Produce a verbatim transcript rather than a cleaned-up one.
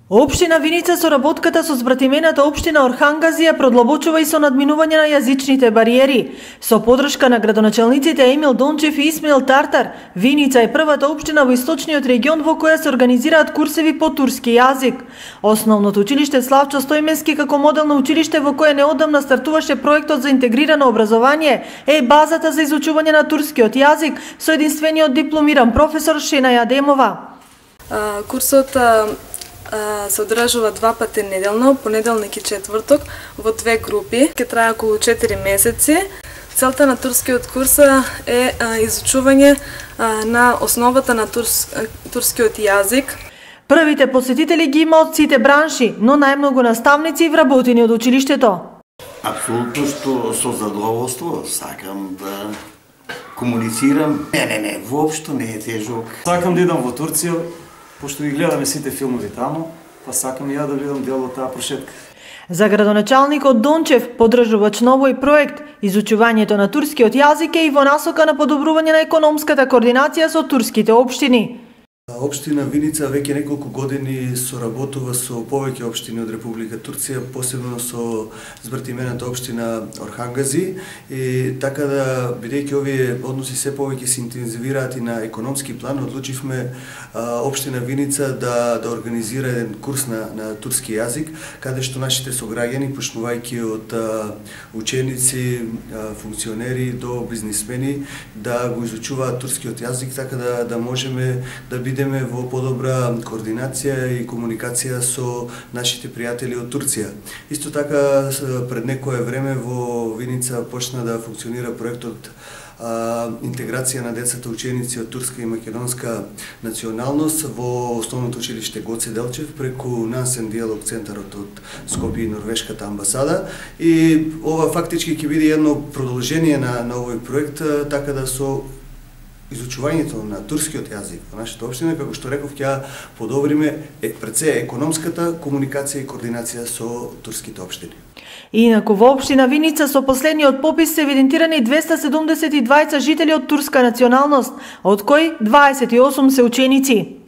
Општина Виница со работката со збратимената општина Орхангазија продлабочува и со надминување на јазичните бариери. Со подршка на градоначалниците Емил Дончев и Исмаил Тартар, Виница е првата општина во источниот регион во која се организираат курсеви по турски јазик. Основното училиште Славчо Стојменски како моделно училиште во кое неодамна стартуваше проектот за интегрирано образование е базата за изучување на турскиот јазик со единствениот дипломиран професор Шена Јадемова. А, курсот се одржува два пати неделно, понеделник и четврток, во две групи. Ке трае околу четири месеци. Целта на турскиот курс е изучување на основата на турс, турскиот јазик. Првите посетители ги има од сите бранши, но најмногу наставници вработени од училиштето. Апсолутно што со задоволство сакам да комуницирам. Не, не, не, воопшто не е тежок. Сакам да идам во Турција, пошто ги гледаме сите филмови таму, па сакам и ја да бидам дел од таа прошетка. За градоначалникот Дончев, поддржувач на овој проект, изучувањето на турскиот јазик е и во насока на подобрување на економската координација со турските општини. Општина Виница веќе неколку години соработува со повеќе општини од Република Турција, посебно со збратимената општина Орхангази, и така да, бидејќи овие односи се повеќе се интензивираат и на економски план, одлучивме а, општина Виница да да организира еден курс на на турски јазик, каде што нашите сограѓани, почнувајќи од а, ученици, а, функционери до бизнисмени, да го изучуваат турскиот јазик, така да да можеме да бидеме идеме во подобра координација и комуникација со нашите пријатели од Турција. Исто така, пред некое време во Виница почна да функционира проектот а, интеграција на децата ученици од турска и македонска националност во основното училиште Гоце Делчев преку Нансен диалог центарот од Скопје и Норвешката амбасада. И ова фактички ќе биде едно продолжение на, на овој проект, така да со изучувањето на турскиот јазик во нашата општина, како што реков, ќе подобриме е, пред се економската комуникација и координација со турските општини. Инаку во општина Виница со последниот попис се евидентирани двеста седумдесет и дваесет жители од турска националност, од кои дваесет и осум се ученици.